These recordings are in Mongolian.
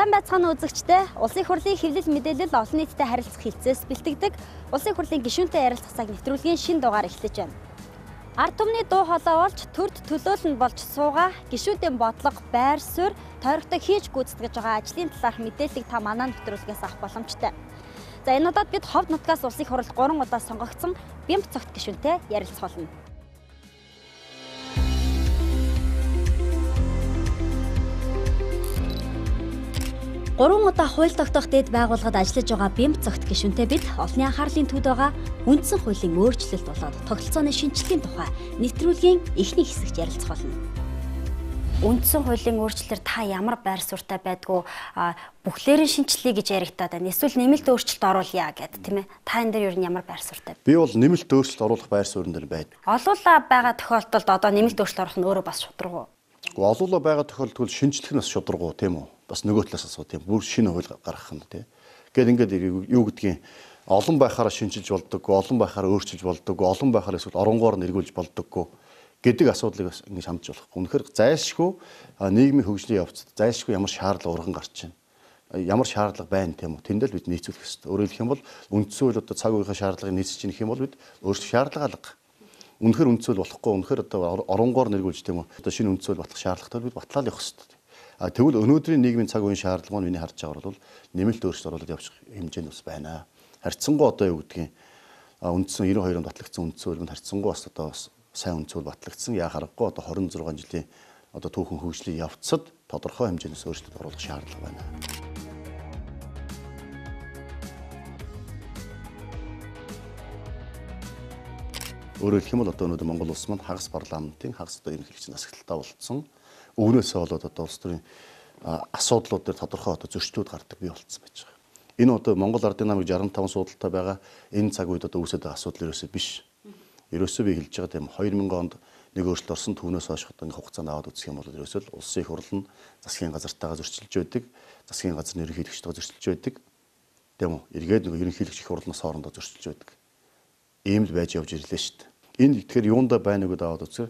Сайн байцгаана үзэгчдээ. Улсын хурлын хэвлэл мэдээлэл олон нийтэд харилцах хилцээс бэлтгэдэг Улсын хурлын гишүүнтэй ярилцах цаг нэвтрүүлгийн шинэ дугаар эхлэж байна. Ард түмний дуу хоолой болж төрд төлөөлөл нь болж суугаа гишүүдийн бодлого, байр суурь, тойрогтой хийж гүйцэтгэж байгаа ажлын талаарх мэдээллийг та манай нэвтрүүлгээс авах боломжтой. За энэ удаад бид Ховд нутгаас Улсын хурлд 3 удаа сонгогдсон Бямб цогт гишүүнтэй ярилцах болно. Гурван удаа хууль тогтоох дэд байгууллагад ажиллаж байгаа Бямб цогт гишүүнтэй бид олонний анхаарлын төвд байгаа үндсэн хуулийн өөрчлөлт болоод тогтолцооны шинжилгээний тухай нэвтрүүлгийн эхний хэсэгт ярилцах болно. Үндсэн хуулийн өөрчлөлтөөр та ямар байр суурьтай байдгүй бүхлээрийн шинжилгээ гэж яригадаад байна. Эсвэл нэмэлт өөрчлөлт оруулъя гэдэг тийм ээ. Та энэ дээр юу ямар байр суурьтай? Би бол нэмэлт өөрчлөлт оруулах байр суурин дээр байна. Олуулаа байгаа тохиолдолд одоо нэмэлт өөрчлөлт оруулах нь өөрөө бас шударга уу? Олуулаа байгаа тохиолдолд шинжлэх нь бас шударга уу тийм үү? Бас нөгөө талаас асуу тийм бүр шинэ хууль гаргах нь тийм. Ингээд юу гэдгийг олон байхаараа шинжилж болдоггүй, олон байхаараа өөрчилж болдоггүй, олон байхаараа эсвэл оронгоор нь эргүүлж болдоггүй гэдэг асуудлыг бас ингэ шамдж болох. Үнэхээр зайлшгүй нийгмийн хөгжлийн явцад зайлшгүй ямар шаардлага урган гарч байна. Ямар шаардлага байна тийм үү? Тэндэл бид нийцүүлэх ёстой. Өөрөөр хэлэх юм бол үндсэн хууль одоо цаг үеийн шаардлагыг нийцэж ийнх юм бол бид өөрсдөө шаардлага алга. Үнэхээр үндсэн хууль болохгүй, үнэхээр одоо оронгоор нь эргүүлж тийм үү? Одоо шинэ үндсэн хууль болох шаардлагатай бид батлаад явах ёстой. Тэгвэл өнөөдрийн нийгмийн цаг үеийн шаардлага маань миний харж байгаагаар бол нэмэлт өөрчлөлт оруулаад явчих хэмжээнд бас байна. Харьцангуй одоо юу гэдгийг үндсэн 92 онд батлагдсан үндсэн хуулинд харьцангуй бас одоо сайн үндсэн хууль батлагдсан. Яа харахгүй одоо 26 жилийн одоо түүхэн хөгжлийн явцад тодорхой хэмжээс өөрчлөлт оруулах шаардлага байна. Өөрөөр хэлэх юм бол одоо өнөөдөр Монгол улс маань хагас парламентын хагас одоо ерөнхийлөгчийн засаглалтаа болцсон. Өвнөөсөө болоод одоо улс төрийн асуудлууд дээр тодорхой одоо зөрчлүүд гардаг бий болцсон байж байгаа. Энэ одоо Монгол ардын намыг 65 суудалтай байгаа энэ цаг үед одоо үүсэж байгаа асуудал ерөөсөө биш. Ерөөсөө би хэлж байгаа тийм 2000 онд нэг өөрчлөлт орсон түүнээс хойш одоо нэг хугацаанд аваад үзэх юм бол ерөөсөө л улсын их хурл нь засгийн газартайгаа зөрчилж байдаг, засгийн газрын ерөнхийлөгчтэйгээ зөрчилж байдаг. Тийм үү? Эргээд нэг ерөнхийлөгч их хурлнаас хоорондоо зөрчилж байдаг. Ийм л байж явж ирлээ шүү дээ. Энэ тэгэхээр юундаа байна гэдээ аваад үзэх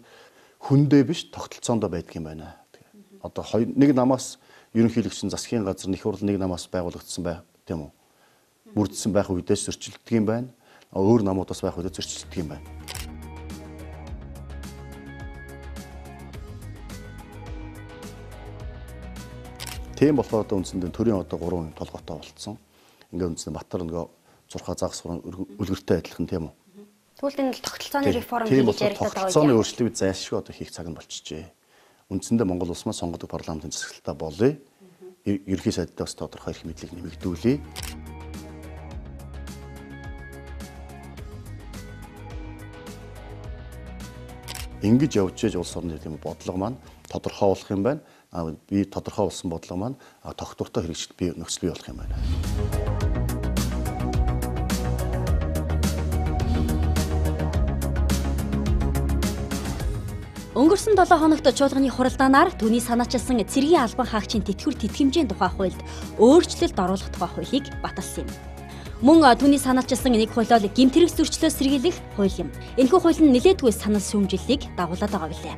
хүндээ биш тогтолцоондоо байдаг юм байна. Одоо нэг намаас ерөнхийлөгч нь засгийн газар их хурл нэг намаас байгуулагдсан байх тийм үү? Бүрдсэн байх үедээс зөрчилдөг юм байна. Өөр намуудаас байх үедээ зөрчилдөг юм байна. Тийм болохоор одоо үндсэндээ төрийн одоо 3 толгойтой болцсон. Ингээд үндсэндээ Батар нөгөө зурхаа загас үлгэртэй адилхан тийм үү? Тэгвэл энэ тогтолцооны реформ хийж яригдаад байгаа. Тогтолцооны өөрчлөлтийг зайлшгүй одоо хийх цаг нь болчихжээ. Үндсэндээ Монгол улс маань сонгодог парламентын засаглалтаа болъё. Ерөнхий сайдтай бас тодорхой эрх мэдлийг нэмэгдүүлье. Ингэж явж ээж улс орны тийм бодлого маань тодорхой болох юм байна. Би тодорхой болсон бодлого маань тогтвортой хэрэгжилт бий нөхцөл бий болох юм байна. Өнгөрсөн 7 хоногт чуулганы хуралдаанаар түүний санаачилсан цэргийн албан хаагчийн тэтгэвэр тэтгэмжийн тухай хуульд өөрчлөлт оруулах тухай хуулийг баталсан юм. Мөн түүний санаачилсан нэг хуулиол гэмтрэг зөрчлөө сэргийлэх хууль юм. Энэхүү хууль нь нэлээдгүй санал шүүмжлэлийг дагуулад байгаа билээ.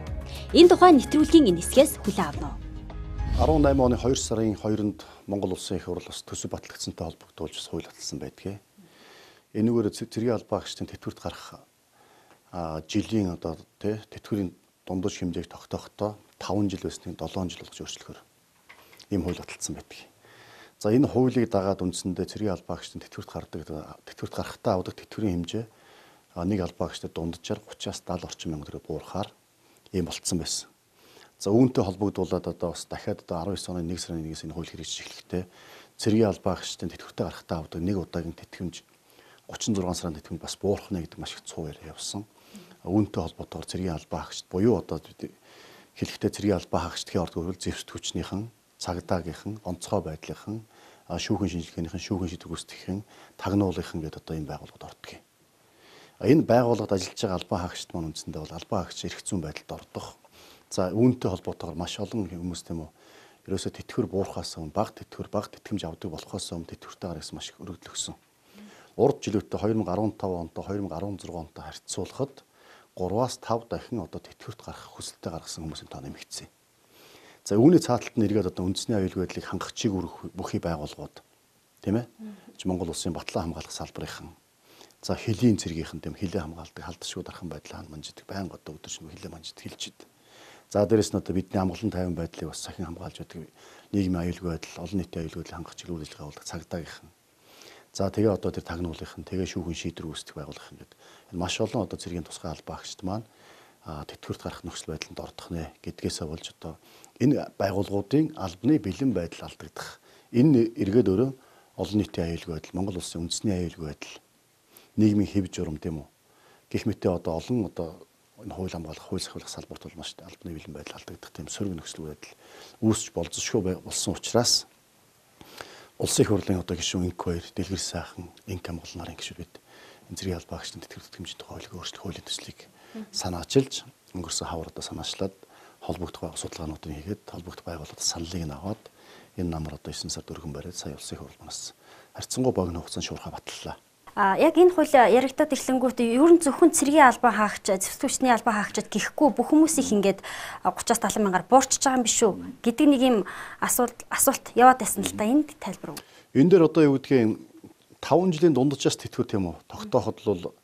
Энэ тухай нэвтрүүлгийн энэ хэсгээс хүлээн авна уу? 18 оны 2 сарын 2-нд Монгол улсын их хурл бас төсөв батлагдсантай холбогдуулж хууль баталсан байдгийг. Энэгээр цэргийн албан хаагчдын тэтгэврт гарах жилийн одоо тэтгэврийн дундаж хэмжээг тогтоохдоо 5 жил байсныг 7 жил болгож өөрчлөхөөр ийм хууль баталсан байдаг. За энэ хуулийг дагаад үндсэндээ цэргийн албан хаагчдын тэтгэврт гарахтаа авдаг тэтгэврийн хэмжээ нэг албан хаагчдад дунджаар 30-аас 70 орчим мянга төгрөг буурахаар ийм болцсон байсан. За үүнтэй холбогдуулаад одоо бас дахиад одоо 19 оны 1 сарын 1-ээс энэ хууль хэрэгжиж эхлэхдээ цэргийн албан хаагчдын тэтгэвртээ гарахтаа авдаг нэг удаагийн тэтгэмж 36 сарын тэтгэмж бас буурахна гэдэг маш их цуу яриа явсан. Үүнтэй холбоотойгоор цэргийн албан хаагчд буюу одоо хэлэхдээ цэргийн албан хаагчдын орд хүрэл зэвсэг хүчнийхэн, цагдаагийнхан, онцгой байдлынхан, шүүхэн шинжилгээнийхэн, шүүхэн шийдвэр гүйцэтгэхийн, тагнуулынхан гэдэг одоо энэ байгууллагад ордог юм. Энэ байгууллагад ажиллаж байгаа албан хаагчд маань үндсэндээ бол албан хаагч эрх зүйн байдалд ордог. За үүнтэй холбоотойгоор маш олон хүмүүс тийм үү ерөөсө тэтгэвэр буурахаас өмнө баг тэтгэмж авдаг болохоос өмнө тэтгэвртээ гаргасан маш их өргөдөл өгсөн. Урд жилүүтээ 2015 онтой 2016 онтой харьцуулахад 3-аас 5 дахин одоо тэтгэврт гарах хүсэлтэд гаргасан хүмүүсийн тоо нэмэгдсэн. За үүний цааталт нь эргээд одоо үндэсний аюулгүй байдлыг хангах чиг бүхий байгууллагууд тийм ээ. Монгол улсын батлан хамгаалах салбарынхан за хөлийн цэргийнхэн тийм хилээ хамгаалдаг халдшгүй дархан байдлаа манжидаг байнга одоо өдөршин хилээ манжид хэлж идэв. За дээрэс нь одоо бидний амгалан тайван байдлыг бас сахин хамгаалж байдаг нийгмийн аюулгүй байдал, олон нийтийн аюулгүй байдлыг хангах чиглэл үйлчилгээ явуулдаг цагдаагийнхан. За тэгээ одоо тэр тагнуулынхан, тэгээ шүүхэн шийдвэр үүсгэх байгууллагын гэдэг маш олон одоо цэргийн тусгай албаа агчид маань тэтгэврт гарах нөхцөл байдланд ордох нэ гэдгээсээ болж одоо энэ байгууллагуудын албаны бэлэн байдал алдагдах. Энэ эргээд өөрөө олон нийтийн аюулгүй байдал, Монгол улсын үндэсний аюулгүй байдал, нийгмийн хэв журам тийм үү. Гэх мэт одоо олон одоо энэ хууль хамгаалах, хууль сахиулах салбарт бол маш албаны бэлэн байдал алдагдах тийм сөрөг нөхцөл байдал үүсч болзошгүй болсон учраас улсын их хурлын одоо гишүүн инк хоёр, дэлгэр сайхан, инк амгалан нарын гишүүд бид энэ зэргийн албаа агчдын тэтгэврт хэмжээний тухай хуулийг өөрчлөх хуулийн төслийг санаачилж өнгөрсөн хавар одоо санаачлаад холбогдох судалгаануудыг хийгээд холбогдох байгууллагад саналыг нь аваад энэ намар одоо 9 сард өргөн бариад сая улсын их хурл манаас харьцангуй богино хугацаанд шуурхай батллаа. Яг энэ хууль яригдаад ирлэнгүүт ер нь зөвхөн цэргийн албан хаагч, зэвсгүүчний албан хаагчид гэхгүй бүх хүмүүсийг ингээд 30-70 мянгаар буурчж байгаа юм биш үү гэдэг нэг юм асуулт яваад байсан л та энд тайлбар өгөө. Энэ дээр одоо юу гэдгийг 5 жилийн дундчаас тэтгэвэр тийм үү тогтооход бол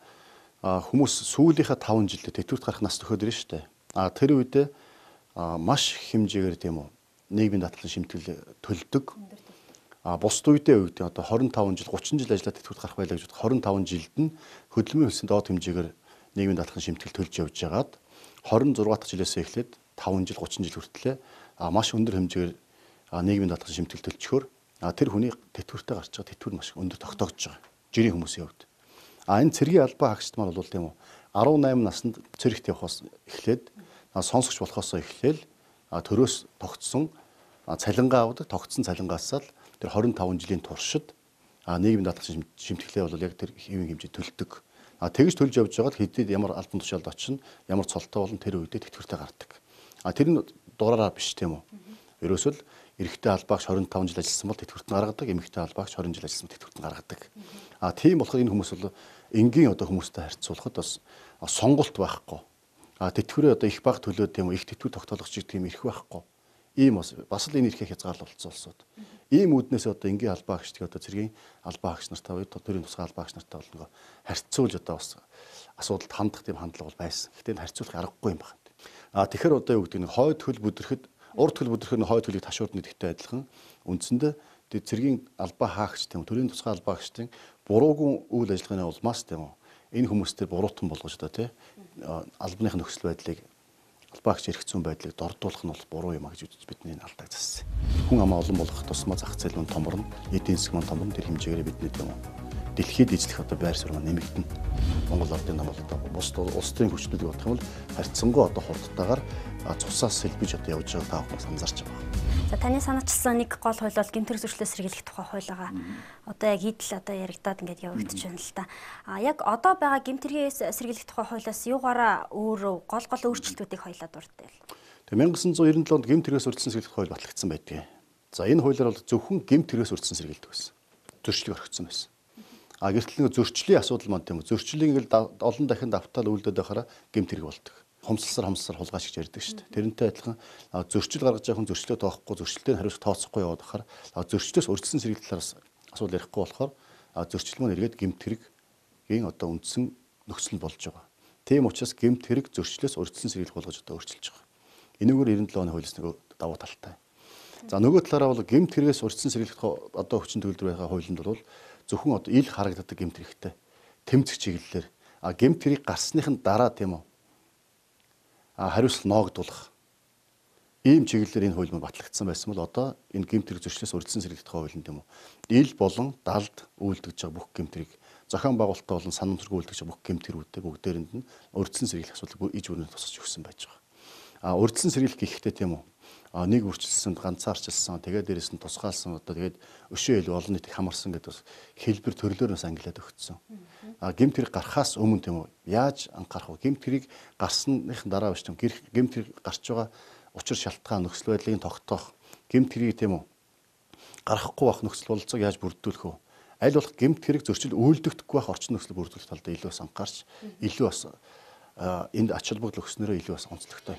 хүмүүс сүүлийнхээ 5 жилдээ тэтгэврт гарах нас төхөөд ирнэ шүү дээ. Тэр үедээ маш их хэмжээгээр тийм үү нийгмийн даатгалын шимтгэл төлдөг. Бусд үедээ үед одоо 25 жил 30 жил ажиллаад тэтгэврт гарах байлаа гэж бодох 25 жилд нь хөдөлмөрийн хөлсөнд доод хэмжээгээр нийгмийн даатгалын шимтгэл төлж явж байгаад 26 дахь жилээс эхлээд 5 жил 30 жил хүртлээр маш өндөр хэмжээгээр нийгмийн даатгалын шимтгэл төлчихөөр тэр хүний тэтгэвртээ гарч байгаа тэтгэвэр маш өндөр тогтоогдож байгаа. Жирийн хүмүүсийн хувьд. Энэ цэргийн албан хаагчд маань бол тийм үү 18 наснд цэрэгт явахаас эхлээд сонсогч болохоос эхлээл төрөөс тогтсон цалингаа авдаг. Тогтсон цалингаасаа л тэр 25 жилийн туршид нийгмийн даатгалын шимтгэлээ бол яг тэр хэвийн хэмжээ төлдөг. Тэгж төлж явж байгаад хэдийд ямар албан тушаалд очино, ямар цолтой болон тэр үедээ тэтгэвртээ гардаг. Тэр нь дураараа биш тийм үү. Ерөөсөө л эрэгтэй албаагч 25 жил ажилласан бол тэтгэврт нь гаргадаг, эмэгтэй албаагч 20 жил ажилласан бол тэтгэврт нь гаргадаг. Тийм болохоор энэ хүмүүс бол энгийн одоо хүмүүстэй харьцуулахад бас сонголт байхгүй. Тэтгэврээ одоо их бага төлөөд тийм үү их тэтгэвэр тогтоологч тийм ирэх байхгүй. Ийм бас л энэ эрхээ хязгаарлалцсан улсууд. Ийм үүднээс одоо энгийн албаа агчдыг одоо цэргийн албаа агч нартай уу төрийн тусгай албаа агч нартай бол нөгөө харьцуулж одоо бас асуудалд хандах тийм хандлага бол байсан. Гэхдээ энэ харьцуулах аргагүй юм байна. Тэгэхээр одоо юу гэдэг нь хойд хөл бүдрэхэд урд хөл бүдрэхэд хойд хөлийг ташуурдны гэдэгтэй адилхан үндсэндээ цэргийн албаа хаагч тийм төрийн тусгай албаа агчдын буруугүй үйл ажиллагааны улмаас тийм энэ хүмүүстээр буруутан болгож одоо тий албаных нөхцөл байдлыг албаагч эрх зүйн байдлыг дордуулах нь бол буруу юм а гэж үзэж бидний алдааг зассан. Хүн амаа олон болох тусмаа зах зээл мөн томорно, эдийн засаг мөн томорно тэр хэмжээгээр бидний тийм дэлхийд эзлэх одоо байр суурь нэмэгдэнэ. Монгол ардын нам бол одоо бус улсын хүчнүүдийг бодох юм бол харьцангуй одоо хурдтайгаар цусаас сэлбэж одоо явж байгаа та бүхэн анзаарч байгаа. За таны санаачилсан нэг гол хууль бол гэмтэр зөрчлөөс сэргийлэх тухай хууль байгаа. Одоо яг идэл одоо яригадаад ингээд явагдаж байна л та. Яг одоо байгаа гэмтэргээс сэргийлэх тухай хуулиас юугаараа өөр гол өөрчлөлтүүдийг хоёлаа дурддаг. Тэгээ 1997 онд гэмтэргээс урьдчилан сэргийлэх хууль батлагдсан байдаг. За энэ хуулиар бол зөвхөн гэмтэргээс урьдчилан сэргийлдэг байсан. Зөрчлийг орхигдсон байсан. Гэтэл нэг зөрчлийн асуудал маань тийм үү. Зөрчлийг ингээл олон дахин давтаал үйлдээд байхаараа гэмтэрэг болдог. Хомсолсоор хулгайч гэж ярьдаг шүү дээ. Тэрнтэй адилхан зөрчил гаргаж байгаа хүн зөрчлөө тоохгүй, зөрчлөлтөнд хариуцлага тооцохгүй яваад байхаар зөрчлөөс урьдчилан сэргийлэх талаас асуудал ярихгүй болохоор зөрчил маань эргээд гэмтэргийн одоо үндсэн нөхцөл болж байгаа. Тийм учраас гэмтэрэг зөрчлөөс урьдчилан сэргийлэх болгож одоо өөрчилж байгаа. Энэгээр 97 оны хуулиас нэг давуу талтай. За нөгөө талаараа бол гэмтэргээс урьдчилан сэргийлэх одоо хүчин төгөлдөр байгаа хуулинд бол зөвхөн одоо ил харагддаг гэмтэрэгтэй тэмцэх чиглэлээр гэмтэрийг гарсныхын дараа тийм үү хариуцлага ноогдуулах ийм чиглэлээр энэ хууль маань батлагдсан байсан бол одоо энэ гэмтэрэг зөрчлөөс урьдчилан сэргийлэх хуулинд тийм үү ил болон далд үйлдэж байгаа бүх гэмтэрийг зохион байгуулалттай болон санамсргүй үйлдэж байгаа бүх гэмтэрүүдтэй бүгдээрэнд нь урьдчилан сэргийлэх асуудлыг иж бүрнээ тусгаж өгсөн байж байгаа. Урьдчилан сэргийлэх гэхдээ тийм үү нэг үрчилсэн, ганцаарчилсан, тэгээд дээрэс нь тусгаалсан одоо тэгээд өшөө илүү олон нийтийг хамарсан гэдэг бас хэлбэр төрлөөрөөс ангилаад өгсөн. Гэмтэрэг гарахаас өмнө тийм үү яаж анхаарах вэ? Гэмтэрийг гарсныхын дараа биш тийм гэмтэрэг гарч байгаа учир шалтгаан нөхцөл байдлыг тогтоох, гэмтэрийг тийм үү гарахгүй байх нөхцөл бололцоог яаж бүрдүүлэх вэ? Аль болох гэмтэрэг зөрчил үйлдэгдэхгүй байх орчин нөхцөл бүрдүүлэх талд илүү бас анхаарч илүү бас энд ач холбогдол өгснөөрөө илүү бас онцлогтой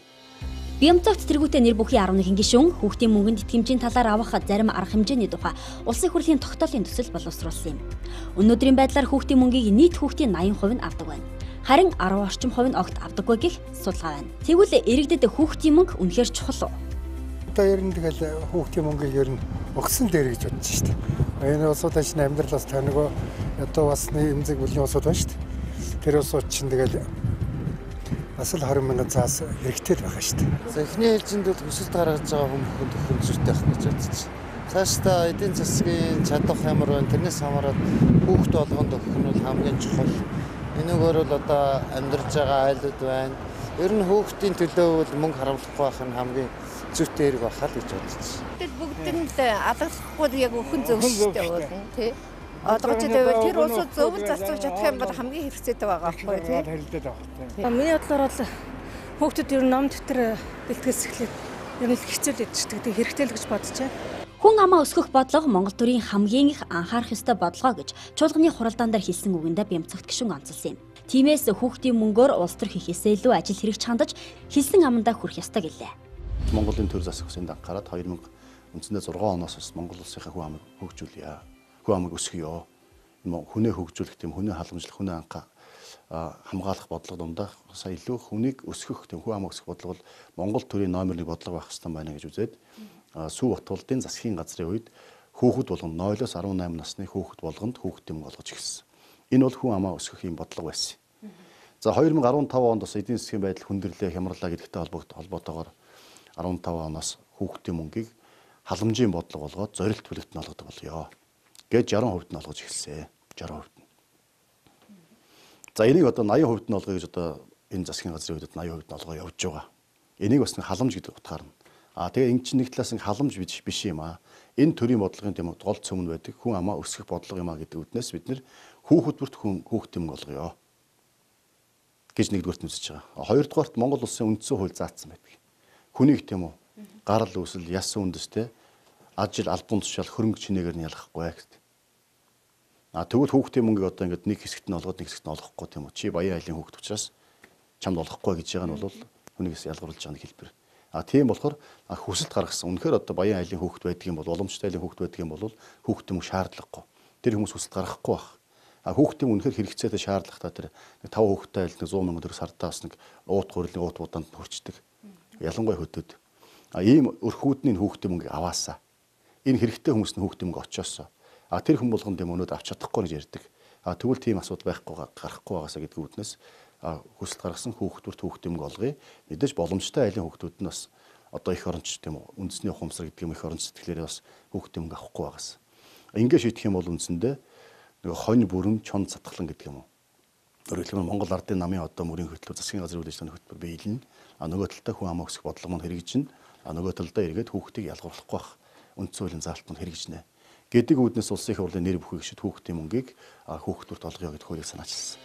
Бямцагт тэргүүтээ нэр бүхий 11 гишүүн хүүхдийн мөнгөнд итгэмжийн талаар авах зарим арга хэмжээний тухай улсын хурлын тогтоолын төсөл боловсруулсан юм. Өнөөдрийн байдлаар хүүхдийн мөнгийг нийт хүүхдийн 80% нь авдаг байна. Харин 10 орчим хувь нь огт авдаггүй гэх судалгаа байна. Тэгвэл иргэдэд хүүхдийн мөнгө үнэхээр чухал уу? Одоо ер нь тэгэл хүүхдийн мөнгийг ер нь өгсөн дээр гэж бодож шүү дээ. Энэ улсуудын чинь амьдрал бас та нөгөө одоо бас эмзэг бүлийн улсууд байна шүү дээ. Тэр улсууд чинь тэгэл бас л 20 мянган цаас хэрэгтэй байгаа шүү дээ. За эхний ээлжинд бол хүсэлт гаргаж байгаа хүмүүст өхөн зүйтэй байх гэж бодож байна. Цаашдаа эдийн засгийн чадах ямар байна, тэрнээс хамаарат хүүхд болгонд өгөх нь бол хамгийн чухал. Энэгээр бол одоо амьдарч байгаа айлууд байна. Ер нь хүүхдийн төлөө бол мөнгө харамлахгүй байх нь хамгийн зүйтэй хэрэг байхаа л гэж бодож байна. Тэгэл бүгдэнд алгахгүй яг өхөн зөвшөөрөлтэй болно тий. Одоогч дээр тэр улсууд зөвлөж зарцуулж чадах юм бол хамгийн хэрэгцээтэй байгаа байхгүй тий. Миний бодлоор бол хүүхдүүд ер нь ном дэвтэр бэлтгэс эхлээд ер нь хэцүү л ядчих гэдэг хэрэгтэй л гэж бодож байна. Хүн амаа өсгөх бодлого Монгол төрийн хамгийн их анхаарах ёстой бодлого гэж чуулганы хуралдаан дээр хэлсэн үгэндээ Бямцагт гишүүн онцолсон юм. Тиймээс хүүхдийн мөнгөөр улс төр хийхээсээ илүү ажил хэрэгч хандаж хэлсэн амандаа хүрэх ёстой гэлээ. Монголын төр засаг хүсэнд анхаарат 2000 үндсэндээ 6 оноос бас Монгол улсынхаа хүн амыг хөгжүүлье. Хүн амыг өсгөё. Хүнээ хөгжүүлэх тийм хүнээ халамжлах хүнээ анхаа хамгаалах бодлого дундаа сая илүү хүнийг өсгөх тийм хүн амыг өсгөх бодлого бол Монгол төрийн номер 1 бодлого байх хэрэгтэй байна гэж үзээд Сүү Батболдын засгийн газрын үед хүүхэд болгонд 0-18 насны хүүхэд болгонд хүүхдийн мөнгө олгож ирсэн. Энэ бол хүн амаа өсгөх юм бодлого байсан. За 2015 онд бас эдийн засгийн байдал хүндрэлээ хямралаа гэдэгтэй холбоотойгоор 15 оноос хүүхдийн мөнгийг халамжийн бодлого болгоод зорилт бүлэгт нь олгодог болёо. Гэж 60% нь олгож эхэлсэн. 60%. За энийг одоо 80% нь олгоё гэж одоо энэ засгийн газрын үед 80% нь олгоо явж байгаа. Энийг бас нэг халамж гэдэг утгаар нь. Тэгээ энэ чинь нэг талаас нь халамж биш юм аа. Энэ төрлийн бодлогын тийм гол цөмн байдаг хүн амаа өсгөх бодлого юм аа гэдэг үднээс бид нэр хүүхэд бүрт хүүхдийн мөнгө олгоё гэж нэгдүгээрт үзэж байгаа. Хоёрдугаарт Монгол улсын үндсэн хууль заасан байдаг. Хүнийг тийм үү гарал үүсэл яс үндэстэй ажил албан тушаал хөрөнгө чинээгээр нь ялгахгүй гэдэг. Тэгвэл хүүхдийн мөнгийг одоо ингээд нэг хэсэгт нь олгоод нэг хэсэгт нь олгохгүй тийм үү. Чи баян айлын хүүхд учраас чамд олгохгүй гэж байгаа нь бол хүнийгээс ялгаруулж байгаа нэг хэлбэр. Тийм болохоор хүсэлт гаргасан. Үнэхээр одоо баян айлын хүүхд байдаг юм бол уламжтай айлын хүүхд байдаг юм бол хүүхдийн мөнгө шаардлагагүй. Тэр хүмүүс хүсэлт гаргахгүй байх. Хүүхдийн үнэхээр хэрэгцээтэй шаардлагатай тэр 5 хүүхдтэй айл 100 сая төгрөг сартаас нэг уут гурилын уут буданд хүрчдэг. Ялангуяа хөдөөд. Ийм өрхүүдний хүүхдийн мөнгө аваасаа. Энэ хэрэгтэй хүмүүс нь хүүхдийн мөнгө очоосоо. Тэр хүн болгонд юм өнөөд авч чадахгүй гэж ярьдаг. Тэгвэл тийм асуудал байхгүй гарахгүй байгаасаа гэдэг үднээс хүсэлт гаргасан хүүхдүүрт хүүхдийн мөнгө олгоё. Мэдээж боломжтой айлын хүүхдүүд нь бас одоо их оронч тийм үү үндэсний ухамсар гэдэг юм их оронч сэтгэлээрээ бас хүүхдийн мөнгө авахгүй байгаас. Ингээ шийдэх юм бол үндсэндээ нэг хонь бүрэн чон цатгалан гэдэг юм уу. Өөрөөр хэлбэл Монгол Ардын намын одоо мөрийн хөтлөө засгийн газрын үйл ажиллагааны хөтөлбөр биелнэ. Нөгөө талдаа хүн амаа өсгөх бодлого маань хэрэгжинэ. Нөгөө талдаа эргээд хүүхдийг ялгуулахгүй байх үндсэн хуулийн заалт маань хэрэгжинэ. Гэдэг үүднээс улсын их хурлын нэр бүхий гишүүд хүүхдийн мөнгийг хүүхдүүрт олгоё гэдэг хуулийг санаачилсан.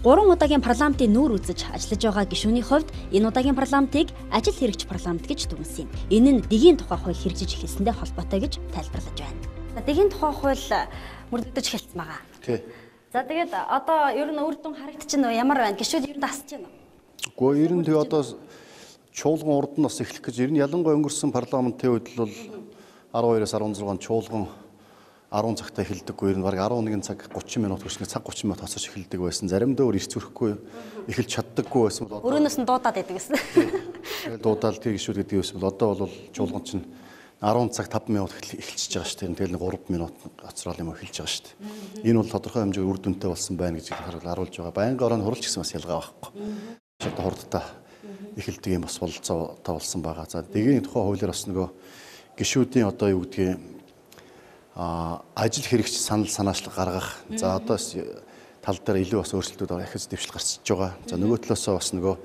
3 удаагийн парламентын нүүр үзэж ажиллаж байгаа гишүүний хувьд энэ удаагийн парламентыг ажил хэрэгч парламент гэж дүгнсэн юм. Энэ нь дэгийн тухай хууль хэрэгжиж эхэлсэндээ холбоотой гэж тайлбарлаж байна. Дэгийн тухай хууль мөрдөгдөж эхэлсэн байгаа. Тий. За тэгээд одоо ер нь үр дүн харагдчихна уу? Ямар байна? Гишүүд ер нь дасч байна уу? Гэхдээ ер нь тэгээ одоо чуулган урд нь бас эхлэх гэж ер нь ялангуяа өнгөрсөн парламентын үед бол 12-аас 16 чуулган 10 цагтаа эхэлдэггүй. Ер нь баг 11 цаг 30 минут хүрснээр цаг 30 минут хасаж эхэлдэг байсан. Заримдаа өөр ирц зүрэхгүй эхэлж чаддаггүй байсан бол өрөөнөөс нь дуудаад байдаг гэсэн. Тэгээд дуудаал тэр гişүүд гэдэг байсан бол одоо бол чуулган чинь 10 цаг 5 минут эхэлчихэж байгаа шүү дээ. Тэгэл нэг 3 минут гоцрол юм эхэлж байгаа шүү дээ. Энэ бол тодорхой хэмжээгээр үр дүнтэй болсон байна гэж харуулж байгаа. Байнгын орон хурлч гэсэн бас ялгаа байхгүй. Одоо хурдтай эхэлдэг юм бас болцоо тавлсан байгаа. За дэгийн тухай хуулиар бас нөгөө гишүүдийн одоо юу гэдгийг ажил хэрэгч санал санаачлал гаргах. За одоо тал дээр илүү бас өөрчлөлтүүд ахиж дэвшил гарчиж байгаа. За нөгөө талаасаа бас нөгөө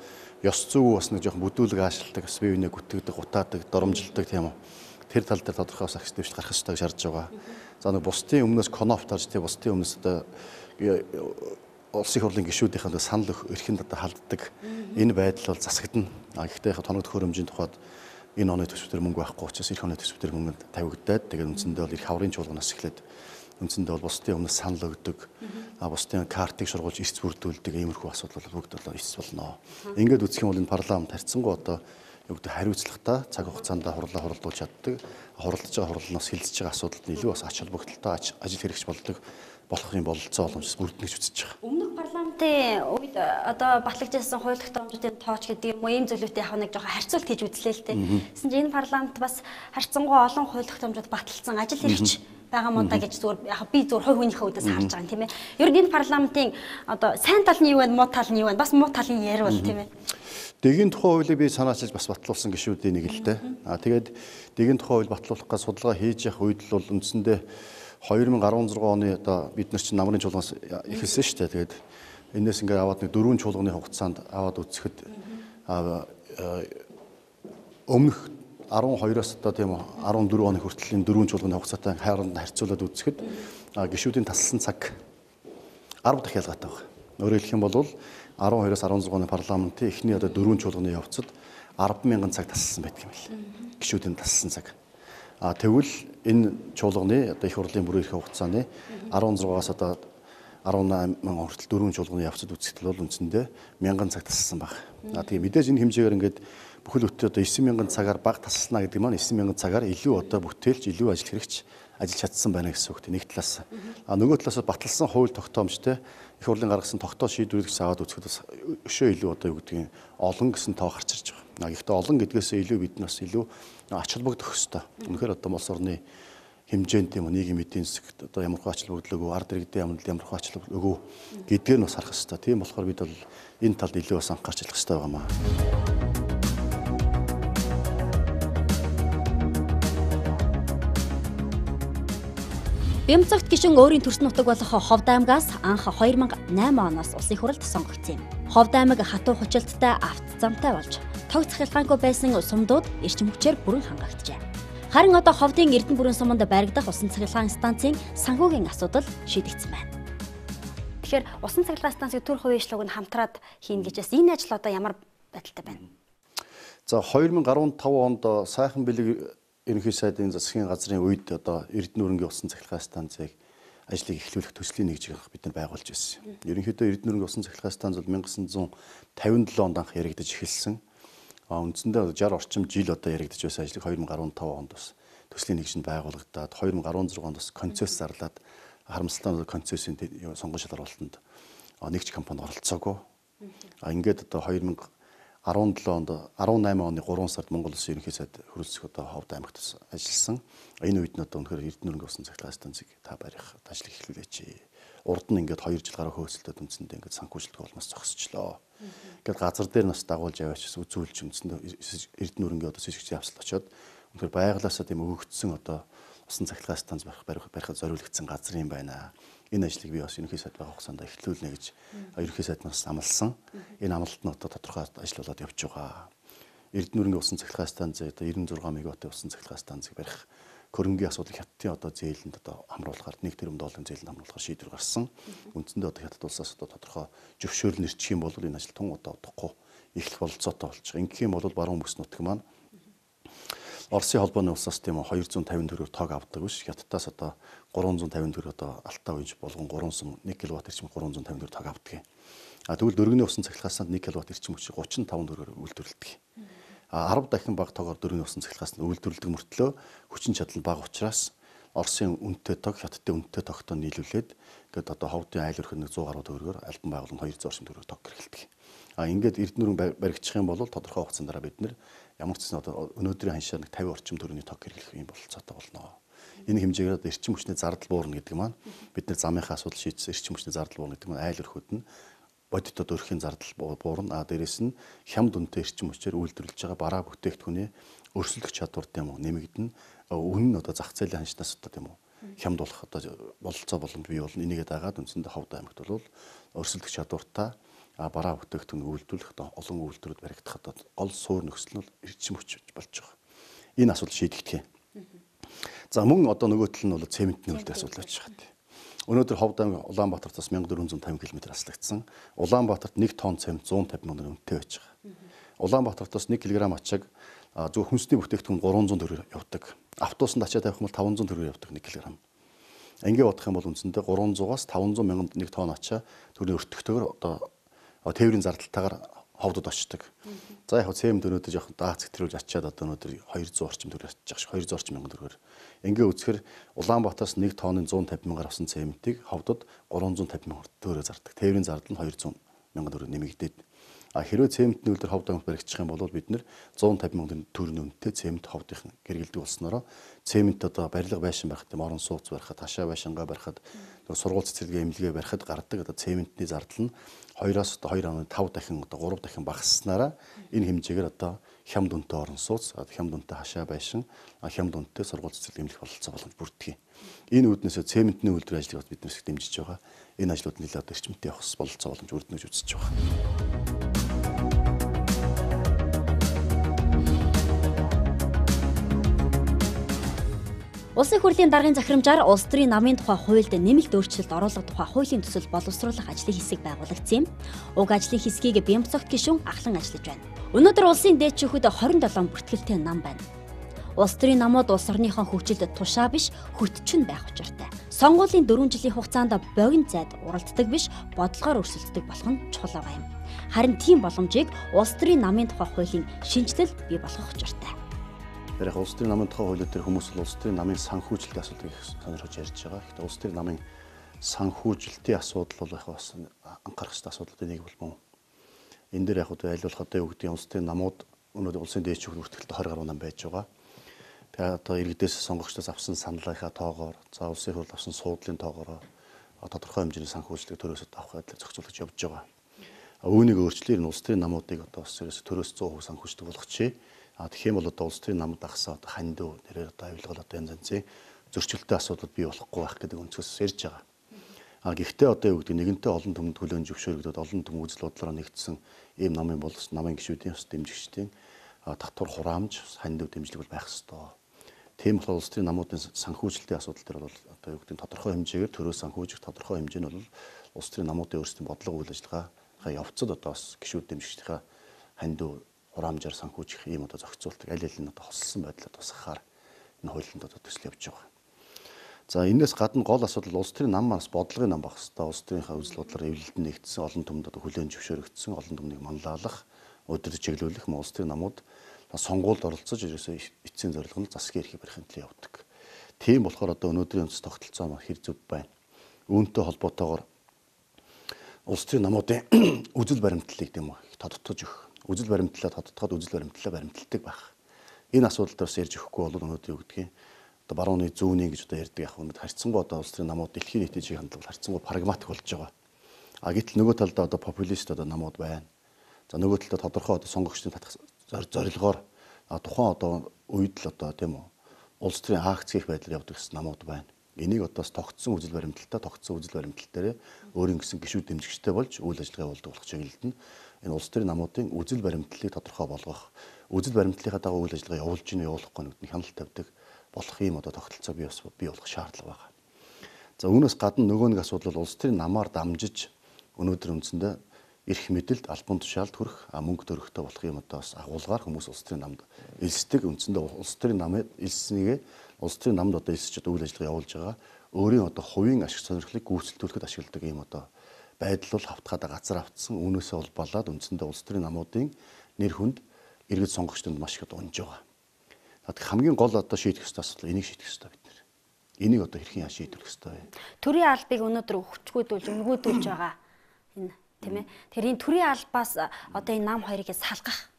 ёс зүйн бас нэг жоохон бүдүүлэг аашилдаг, бас бие биенээ гүтгэдэг, гутаадаг, доромжилдаг тийм үү. Тэр тал дээр тодорхой бас ахиж дэвшил гарах хэрэгтэй гэж шаардж байгаа. За нөгөө бусдын өмнөөс конофтарж тийм бусдын өмнөөс одоо улсын их хурлын гишүүдийнхээ санал эрхэнд одоо халддаг. Энэ байдал бол засагдана. Гэхдээ тоног төхөөрөмжийн тухайд энэ оны төсвөр мөнгө байхгүй учраас эх оны төсвөр мөнгөнд тавигдаад тэгээд үндсэндээ бол их хаврын чуулганаас эхлээд үндсэндээ бол бусдын өмнө санал өгдөг, бусдын картыг шургуулж эрс бүрдүүлдэг иймэрхүү асуудал бол бүгд бол эрс болно. Ингээд үзэх юм бол энэ парламент харьцангуй одоо юу гэдэг хариуцлагатай цаг хугацаанд хуралдуулж чаддаг, хуралдаж байгаа хурлаас хилцэж байгаа асуудалд илүү бас ач холбогдолтой ажил хэрэгч болдог болохын бололцоо боломжтой бүрдэнэ гэж үзэж байгаа. Өмнөх парламентын үед одоо батлагдсан хууль тогтоомжуудын тооч гэдэг юм уу ийм зүйлүүдтэй яг нэг жоохон харьцуулт хийж үзлээ л дээ. Гэсэн чинь энэ парламент бас харьцангуй олон хууль тогтоомжууд баталсан ажил хэрэгч байгаа мó та гэж зүгээр яг би зүгээр хувь хүнийхээ үдээс харж байгаа юм тийм ээ. Ер нь энэ парламентын одоо сайн тал нь юу вэ, муу тал нь юу вэ? Бас муу талын ярил бол тийм ээ. Дэгийн тухай хуулийг би санаачилж бас батлуулсан гишүүдийн нэг л дээ. Тэгээд дэгийн тухай хууль батлуулах гэж судалгаа хийж явах үед л бол үндсэндээ 2016 оны одоо бид нар чинь намрын чуулганаас эхэлсэн шүү дээ. Тэгээд энэс ингээ аваад нэг 4 чуулганы хугацаанд аваад үзэхэд өмнөх 12-оос одоо тийм үү 14 оны хүртэл энэ 4 чуулганы хугацаатай хооронд харьцуулаад үзэхэд гишүүдийн тасалсан цаг 10 дахин ялгаатай байна. Өөрөөр хэлэх юм бол 12-оос 16 оны парламентын эхний одоо 4 чуулганы явцад 10,000 цаг тасалсан байдаг юм байна. Гишүүдийн тасалсан цаг. Тэгвэл энэ чуулганы одоо их хурлын бүрэн эрх хугацааны 16-аас одоо 18 мянган хүртэл 4 чуулганы явцад үзэхэд бол үндсэндээ 1000 цаг тасалсан баг. Тэгээ мэдээж энэ хэмжээгээр ингээд бүхэл бүтэн одоо 9000 цагаар баг тасална гэдэг маань 9000 цагаар илүү одоо бүтээлч илүү ажил хэрэгч ажиллаж чадсан байна гэсэн үг. Нэг талаас нөгөө талаас баталсан хууль тогтоомжтой их хурлын гаргасан тогтоол шийдвэрийг аваад үзэхэд бас өшөө илүү одоо юу гэдгийг олон гэсэн тоо гарч ирж байгаа. Гэхдээ олон гэдгээсээ илүү бид нас илүү ач холбогдох хөстэй. Үнэхээр одоо улс орны хэмжээнд тийм нийгмийн эдийн засагт одоо ямар хөө ач холбогдол өгөө, ард иргэдийн ямар хөө ач холбогдол өгөө гэдгээр нь бас харах хэрэгтэй. Тийм болохоор бид бол энэ талд илүү бас анхаарч ажиллах хэрэгтэй байгаамаа. Бямцагт гишүүн өөрийн төрсөн нутаг болох Ховд аймгаас анх 2008 оноос улсын хурлд сонгогдсон юм. Ховд аймаг хатуу хүчилттэй авто замтай болж тог цахилгаангүй байсан сумдууд эрчим хүчээр бүрэн хангагджээ. Харин одоо Ховдын Эрдэнэ бүрэн суманд баригдах усан цахилгаан станцын санхүүгийн асуудал шийдэгдсэн байна. Тэгэхээр усан цахилгаан станцыг төр хувийн нь хамтраад хийн гэж байна. Энэ ажил одоо ямар байдалтай байна? За 2015 онд сайхан бэлэг ерөнхий сайдын засгийн газрын үед одоо Эрдэнэ өрөнгийн усан цахилгаан станцыг ажлыг эхлүүлэх төслийн нэгжийг бид нар байгуулж байсан. Ерөнхийдөө Эрдэнэ өрөнгийн усан цахилгаан станц бол 1957 онд анх яригдаж эхэлсэн. Үндсэндээ 60 орчим жил одоо яригдаж байсан ажлыг 2015 онд бас төслийн нэгжинд байгуулагдаад 2016 онд бас концесс зарлаад харамсалтай концессийн сонгуульшил оролтонд нэгж компани оролцоогүй. Ингээд одоо 2017 онд 18 оны 3 сард Монгол Улсын ерөнхий сайд хөрөлцөх одоо Ховд аймагт ажилласан. Энэ үед нь одоо өнөхөр Эрдэнэ өрөнгийн усан цахилгаан станцыг та барих ажлыг эхлүүлээч. Урд нь ингээд 2 жил гаруй хөөцөлтөд үндсэндээ ингээд санхүүжилт голмоос зогсчлоо. Ингээд газар дээр нас дагуулж яваач үзүүлж үндсэндээ Эрдэнэ өрөнгийн одоо сэжигчийн явцал очоод өнөхөр байгалаасаа тийм өгөгдсөн одоо усан цахилгаан станц барихад зориулагдсан газар юм байна. Энэ ажлыг би бас ерөнхий сайд байгаа хугацаанд эхлүүлнэ гэж ерөнхий сайднаас амласан. Энэ амлалт нь одоо тодорхой ажил болоод явж байгаа. Эрдэнэ өрөнгийн усан цахилгаан станц одоо 96 мегаваттын усан цахилгаан станцыг барих хөрөнгийн асуудал хятадын одоо зээлэнд одоо хамруулахаар 1 тэрбум долларын зээлэнд хамруулахаар шийдвэр гарсан. Үндсэндээ одоо хятад улсаас одоо тодорхой зөвшөөрөл нэрчих юм бол энэ ажил тун удаа удахгүй эхлэх бололцоотой болж байгаа. Ингэх юм бол баруун бүс нутаг маань Оросын холбооны улсаас тийм 250 төгрөгөөр тог авдаг биш. Хятадаас одоо 350 төгрөг одоо алтаа үйж болгон 3 сум 1 кВт эрчим 350 төгрөг тог авдаг. Тэгвэл дөрөвний усан цахилгаан 1 кВт эрчим хүчийг 35 төгрөгөөр үйлдвэрлэдэг. 10 дахин бага тогоор дөрөвний усан цахилгаан үйлдвэрлэдэг мөртлөө хүчин чадал бага учраас Оросын үнэтэй тог хятадын үнэтэй тогтой нийлүүлээд ингээд одоо Ховдын айл өрх 100 гаруй төгрөгөөр альбан байгууллагын 200 орчим төгрөг тог хэрэглэдэг. Ингээд Эрдэнэ өрөн баригдчих юм бол тодорхой хугацаанд дараа бид нэр ямар ч зүйл одоо өнөөдрийн ханшаар нэг 50 орчим төгрөгийн тог хэрэглэх юм бололцоотой болно. Энэ хэмжээгээр одоо эрчим хүчний зардал буурна гэдэг маань бид нэр замынхаа асуудал шийдсэн эрчим хүчний зардал буурна гэдэг маань айл өрхөд нь бодит одоо өрхийн зардал буурна. Дээрээс нь хямд үнэтэй эрчим хүчээр үйлдвэрлэж байгаа бараа бүтээгдэхүүний өрсөлдөх чадвар тийм үү нэмэгдэнэ. Үнэн нь одоо зах зээлийн ханшнаас одоо тийм үү хямд болох одоо бололцоо боломж бий болно. Энийгээ дагаад үндсэндээ Ховд аймагт бол өрсөлдөх чадвартай бараа бүтээгдэхүүн үйлдвэрлэх олон үйлдвэрүүд баригдах одоо гол суур нөхцөл нь эрчим хүч болж байгаа. Энэ асуудал шийдэгдэх юм. За мөн одоо нөгөө тал нь бол цементний үлдээ асуудал байж байгаа. Өнөөдөр Ховд аймаг Улаанбаатараас 1450 км аслагдсан. Улаанбаатарт 1 тонн цемент 150 мянган үнэтэй байж байгаа. Улаанбаатараас 1 кг ачааг зөв хүнсний бүтээгдэхүүн 300 төгрөөр явдаг. Автобусанд ачаа тавих юм бол 500 төгрөөр явдаг 1 кг. Ингээ бодох юм бол үндсэндээ 300-аас 500 мянганд 1 тонн ачаа төрний өртөгтэйгээр одоо тээврийн зардалтайгаар ховдод очдог. За яг цемент өнөөдөр жоохон дац хэтрүүлж ачаад одоо өнөөдөр 200 орчим төгрөг ачиж байгаа ш. 200 орчим мянган төгрөгөөр. Ингээ үзэхээр Улаанбаатараас 1 тонны 150 мянгаар авсан цементийг ховдод 350 мянган төгрөгөөр зардаг. Тээврийн зардал нь 200 мянган төгрөг нэмэгдээд. Хэрвээ цементний үлдэр ховд амт баригдчих юм бол бид нэр 150 мянган төгрөгийн үнэтэй цемент ховдын гэргэлдэг болсноороо цемент одоо барилга байшин барихад орон сууц барихад хашаа байшингаа барихад сургууль цэцэрлэгээ эмнэлгээ барихад гардаг одоо цементний зардал нь 2-аас 2.5 дахин одоо 3 дахин багасснараа энэ хэмжээгээр одоо хямд үнэтэй орон сууц хямд үнэтэй хашаа байшин хямд үнэтэй сургууль цэцэрлэгээ эмнэлэх бололцоо боломж бүрддэг. Энэ үүднээсээ цементний үйлдвэр ажлыг бид нэрсэг дэмжиж байгаа. Энэ ажлууд нэлээд одоо эрчимтэй явах бололцоо боломж бүрднэ гэж үзэж байгаа. Улсын хурлын даргын захирамжаар улс төрийн намын тухай хуульд нэмэлт өөрчлөлт оруулах тухай хуулийн төсөл боловсруулах ажлын хэсэг байгуулагдсан юм. Уг ажлын хэсгийг Бямцогт гишүүн ахлан ажиллаж байна. Өнөөдөр улсын дээдчүүхэд 27 бүртгэлтэй нам байна. Улс төрийн намууд улс орныхон хөгжилд тушаа биш, хөтчөн байх учиртай. Сонгуулийн 4 жилийн хугацаанд богино зайд уралддаг биш, бодлогоор өрсөлддөг болох нь чухал байгаа юм. Харин тийм боломжийг улс төрийн намын тухай хуулийн шинжилэл бий болгох учиртай. Тэр яг улс төрийн намын тухай хуулиуд төр хүмүүс улс төрийн намын санхүүжилтийн асуудлыг сонирхож ярьж байгаа. Гэхдээ улс төрийн намын санхүүжилтийн асуудал бол яг бас анхаарах ёстой асуудлуудын нэг болмоо. Энэ дээр яг аль болох одоо юу гэдэг нь улс төрийн намууд өнөөдөр улсын дээдчүүд бүртгэлтэй 20 гаруй нам байж байгаа. Тэгээ одоо иргэдээс сонгогчдоос авсан саналынхаа тоогоор, за улсын хурл авсан суудлын тоогоор тодорхой хэмжээний санхүүжилтийг төрөөсөд авах байдлаар зохицуулж явж байгаа. Үүнийг өөрчлөөр нь улс төрийн намуудыг одоо төрөөс 100% санхүүждэг болгочихъя. Тэгэх юм бол одоо улс төрийн намд ахсан одоо хандив нэрээр одоо авилгал одоо янз янзын зөрчилтэй асуудал бий болохгүй байх гэдэг өнцгөөс ярьж байгаа. Гэхдээ одоо юу гэдэг нэгэнтээ олон түмэнд хүлээн зөвшөөрөгдөд олон түм үзэл бодлороо нэгдсэн ийм намын бол намын гишүүдийн ус дэмжигчдийн татвар хураамж хандив дэмжлэг бол байх ёстой. Тийм болохоор улс төрийн намуудын санхүүжилтийн асуудал дээр бол одоо юу гэдэг тодорхой хэмжээгээр төрөө санхүүжих тодорхой хэмжээ нь бол улс төрийн намуудын өөрсдийн бодлого үйл ажиллагаа явцад одоо бас гишүүд дэмжигчдийн хандив хураамжаар санхүүжих ийм одоо зохицуултыг аль аль нь одоо хослсон байдлаар тусгахаар энэ хуулинд одоо төсөл явж байгаа. За энэс гадна гол асуудал улс төрийн нам манаас бодлогын нам байх хэвээр улс төрийнхаа үзэл бодлоор эвлэлд нэгдсэн олон түмэнд одоо хүлээн зөвшөөрөгдсөн олон түмнийг манлайлах, өдөр чиглүүлэх улс төрийн намууд сонгуульд оролцож ерөөсөө эцсийн зорилго нь засгийн эрхийг барихын төлөө явдаг. Тийм болохоор одоо өнөөдрийн үндэс тогтолцоо маань хэр зөв байна. Үүнтэй холбоотойгоор улс төрийн намуудын үзэл баримтлалыг тийм тодтогч өгөх үзэл баримтлалаа тодтогод үзэл баримтлалаа баримталдаг байх. Энэ асуудал дээр ярьж өгөхгүй бол өнөөдөр юу гэдгийг одоо барууны зүүнийн гэж одоо ярьдаг яг өнөөдөр харьцангуй одоо улс төрийн намууд дэлхийн нийтийн чиг хандлага харьцангуй прагматик болж байгаа. Гэтэл нөгөө талдаа одоо популист одоо намууд байна. За нөгөө талдаа тодорхой одоо сонгогчдын татах зорилгоор тухайн одоо үед л одоо тийм үү улс төрийн акц хийх байдлаар явдаг намууд байна. Энийг одоос тогтсон үзэл баримтлал дээр өөрийн гэсэн гишүүд дэмжигчтэй болж үйл ажиллагаа явуулдаг болох чиглэлд нь энэ улс төрийн намуудын үзэл баримтлалыг тодорхой болгох, үзэл баримтлалынхаа дагуу үйл ажиллагаа явуулж ийн явуулахгүй нэгдний хяналт тавьдаг болох юм одоо тогтолцоо бий болох шаардлага байна. За үүнээс гадна нөгөө нэг асуудал бол улс төрийн намаар дамжиж өнөөдөр үндсэндээ эрх мэдэлд албан тушаалд хүрэх мөнгө төрөхтэй болох юм одоо бас агуулгаар хүмүүс улс төрийн намд элсдэг үндсэндээ улс төрийн намд элснийгээ улс төрийн намд одоо элсэж одоо үйл ажиллагаа явуулж байгаа өөрийн одоо хувийн ашиг сонирхлыг гүйцэлдүүлэхэд ашигладаг юм одоо байдал бол хавтгаад газар автсан үүнээсээ улбалаад үндсэндээ улс төрийн намуудын нэр хүнд иргэд сонгогчдод маш их унж байгаа. Тэгэхээр хамгийн гол одоо шийдэх ёстой асуудал энийг шийдэх ёстой бид нар. Энийг одоо хэрхэн шийдвэрлэх ёстой вэ? Төрийн албыг өнөөдөр өгчгүүдүүлж өнгөөдүүлж байгаа энэ тийм ээ. Тэр энэ төрийн албаас одоо энэ нам хоёрыг салгах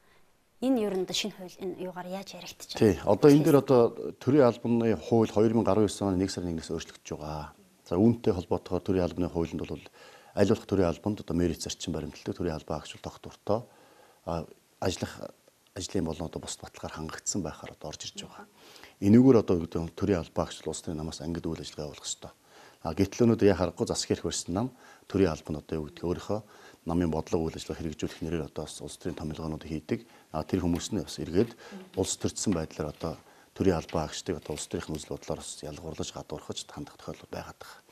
энэ ер нь шинэ хууль энэ юугаар яаж яригдчих. Тий. Одоо энэ дээр одоо төрийн албаны хууль 2019 оны 1 сарын 1-ээс өөрчлөгдөж байгаа. За үүнтэй холбоотойгоор төрийн албаны хуулинд бол аль болох төрийн албанд одоо мэрит зарчим баримталдаг төрийн албаа агчвал тогтвортой ажлын болон одоо бус баталгаар хангагдсан байхаар одоо орж ирж байгаа. Энэгээр одоо төрийн албаа агчвал улс төрийн намаас ангид үйл ажиллагаа явуулах ёстой. Гэтэл өнөөдөр яа харахгүй засгийн эрх барьсан нам төрийн албан одоо юу гэдэг өөрийнхөө намын бодлого үйл ажиллагаа хэрэгжүүлэх нэрээр одоо улс төрийн томилгоонууд хийдэг. Тэр хүмүүс нь бас эргээд улс төрсэн байдлаар одоо төрийн албаа агчдыг одоо улс төрийн үзэл бодлоор бас ялгуурлаж гадуурхаж хандах тохиолдол байгаад байгаа.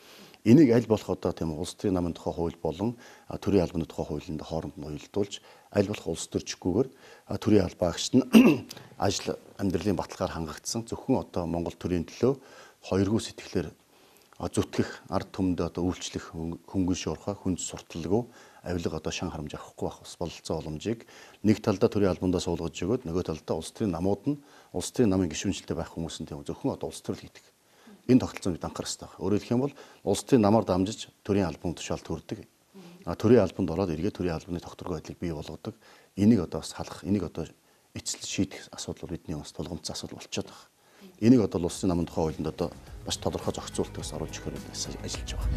Энийг аль болох одоо тийм улс төрийн намын тухай хууль болон төрийн албаны тухай хуулинд хооронд нь уялдуулж аль болох улс төрчгүйгээр төрийн албаа агчид нь ажил амьдралын баталгаар хангагдсан зөвхөн одоо Монгол төрийн төлөө хоёргүй сэтгэлээр зүтгэх ард түмэнд одоо үйлчлэх хөнгөн шуурхай хүнд сурталгүй авилга одоо шан харамж авахгүй байх бас бололцоо боломжийг нэг талдаа төрийн албандаа суулгаж өгөөд нөгөө талдаа улс төрийн намууд нь улс төрийн намын гишүүнчлэлтэй байх хүмүүс нь тийм зөвхөн одоо улс төрөл хийдэг. Энэ тогтолцоонд анхаарах хэрэгтэй байна. Өөрөөр хэлэх юм бол улс төрийн намаар дамжиж төрийн албан тушаал төрдөг. Төрийн албанд ороод эргээд төрийн албаны тогтворгүй байдлыг бий болгодог. Энийг одоо бас халах, энийг одоо эцэлж шийдэх асуудал бидний бас тулгамдсан асуудал болчиход байна. Энийг одоо улсын намын тухай хуулинд одоо бас тодорхой зохицуултаас оруулж өгөхөөр ажиллаж байгаа.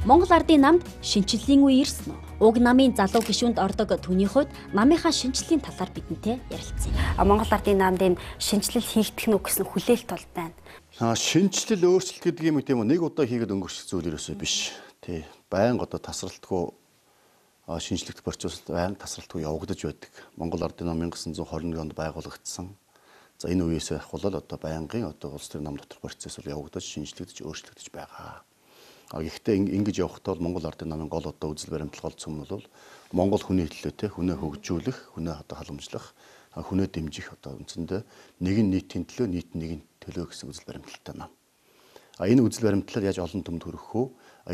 Монгол Ардын намд шинчиллийн үе ирсэн үү? Уг намын залуу гишүүнд ордог түүний хувьд намынхаа шинчиллийн талаар бидэнтэй ярилцъя. Монгол Ардын намд энэ шинжилэл хийгдэх нь гэсэн хүлээлт бол байна. Шинжилэл өөрчлөлт гэдэг юм тийм үү? Нэг удаа хийгээд өнгөрчих зүйл ерөөсөө биш. Тий. Байнга одоо тасралтгүй шинжлэх процесс байнга тасралтгүй явагдаж байдаг. Монгол Ардын нам 1921 онд байгуулагдсан. За энэ үеэс ахвал одоо байнгын одоо улс төрийн нам дотор процессор явагдаж шинжлэгдэж өөрчлөгдөж байгаа. Гэхдээ ингэж явахдаа бол Монгол Ардын намын гол одоо үзэл баримтлал гол цөм нь бол Монгол хүний төлөөтэй хүнээ хөгжүүлэх, хүнээ одоо халамжлах, хүнээ дэмжих одоо үндсэндээ нэгэн нийтийн төлөө нийт нэгэн төлөө гэсэн үзэл баримталтай нам. Энэ үзэл баримтлалаар яаж олон түмэнд хүрэх вэ?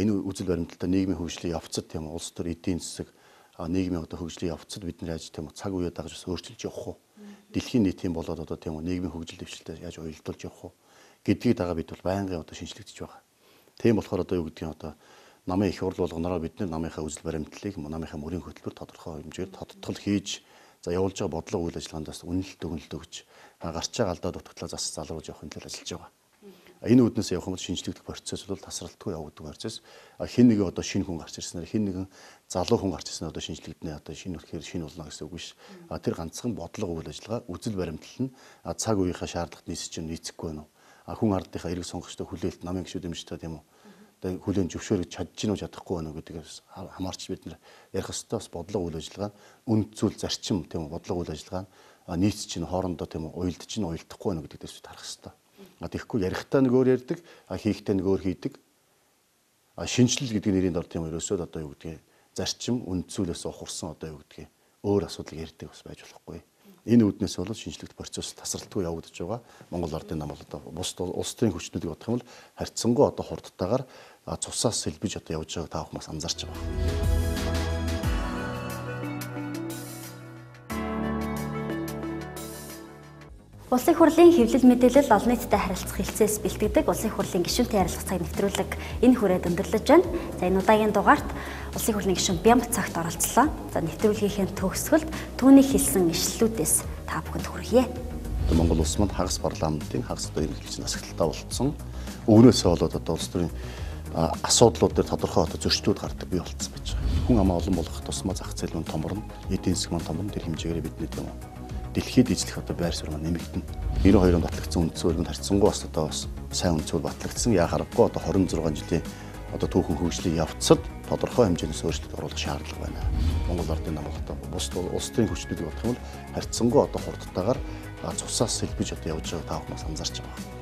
Энэ үзэл баримталтай нийгмийн хөгжлийн явцад тийм улс төр эдийн засаг нийгмийн одоо хөгжлийн явцад бид нар яаж тийм цаг үеэ дагаж өөрчилж явах вэ? Дэлхийн нийтийн болоод одоо тийм нийгмийн хөгжил дэвшилтэд яаж уялдуулж явах вэ гэдгийг дагаа бид бол байнгын одоо шинжлэгдэж байгаа. Тийм болохоор одоо юу гэдгийг одоо намын их хурл болгоноор бид намынхаа үзэл баримтлалыг намынхаа мөрийн хөтөлбөр тодорхой хэмжээгээр тодтол хийж за явуулж байгаа бодлого үйл ажиллагаандаас үнэлэлт өгнөлт өгч гарч байгаа алдаа дутагдлаа зас залруулж явах хэлээр ажиллаж байгаа. Энэ үүднээс явах юм бол шинжлэхдэх процесс бол тасралтгүй явагддаг процесс. Хэн нэгэн одоо шинэ хүн гарч ирснээр хэн нэгэн залуу хүн гарч ирснээр одоо шинжлэгдэнэ одоо шинэ үлхээр шинэ болно гэсэн үг биш. Тэр ганцхан бодлого үйл ажиллагаа үзэл баримтлал нь цаг үеийнхаа шаардлагат нийцэж нийцэхгүй байна уу? Хүн ардынхаа эрэг сонгогчтой хүлээлт намын гишүүд дэмжтэй тийм үү? Одоо хүлээн зөвшөөрөж чадж гинөө чадахгүй байна уу гэдгээс хамаарч бид нар ярих хэвээр бас бодлого үйл ажиллагаа үнд зүйл зарчим тийм үү? Бодлого үйл ажиллагаа нийцэж чинь хоорондоо тийм үү? Уялдаж чинь уялдахгүй байна гэдэгтээс харах хэвээр. Тэгэхгүй ярихтаа нэг өөр ярьдаг, хийхдээ нэг өөр хийдэг. Шинжилэл гэдэг нэрийн дор тийм ерөөсөө одоо юу гэдгийг зарчим үндсүүлээс ухарсан одоо юу гэдгийг өөр асуудал ярьдаг бас байж болохгүй. Энэ үүднээс бол шинжилэлт процесс тасралтгүй явагдаж байгаа. Монгол Ардын нам бол одоо бус улс төрийн хүчнүүдийг бодох юм бол харьцангуй одоо хурдтайгаар цусаас сэлбэж одоо явж байгааг та бүхэн бас анзаарч байгаа. Улсын хурлын хэвлэл мэдээлэл олон нийтэд харилцах хэлцээс бэлтгэдэг Улсын хурлын гишүүнтэй ярилцах цаг нэвтрүүлэг энэ хүрээд өндөрлөж байна. За энэ удаагийн дугаарт Улсын хурлын гишүүн Бямбацагт оролцлоо. За нэвтрүүлгийнхээ төгсгөлд түүний хэлсэн ишлэлүүдээс та бүхэнд хүргье. Монгол улс манд хагас парламентын хагас одоо ерөнхийлөгчийн асагталтаа болцсон. Өвнөөсөө болоод одоо улс төрийн асуудлууд дээр тодорхой одоо зөрчилдөд гардаг бий болцсон байж байгаа. Хүн амаа олон болох тусмаа зах зээл мань томорно, эдийн засаг мань томорно, тэр хэмжээгээр бидний тийм үү дэлхийд эзлэх одоо байр суурь маань нэмэгдэнэ. 92 онд батлагдсан үндсөөрөнд харьцангуй бас одоо бас сайн үндсөөр батлагдсан. Яа харахгүй одоо 26 жилийн одоо түүхэн хөгжлийн явцад тодорхой хэмжээнээс өөрчлөлт оруулах шаардлага байна. Монгол Ардын нам бол одоо бус улс төрийн хүчнүүдийг бодох юм бол харьцангуй одоо хурдтайгаар цусаас сэлбэж одоо явж байгааг та бүхэн анзаарч байгаа.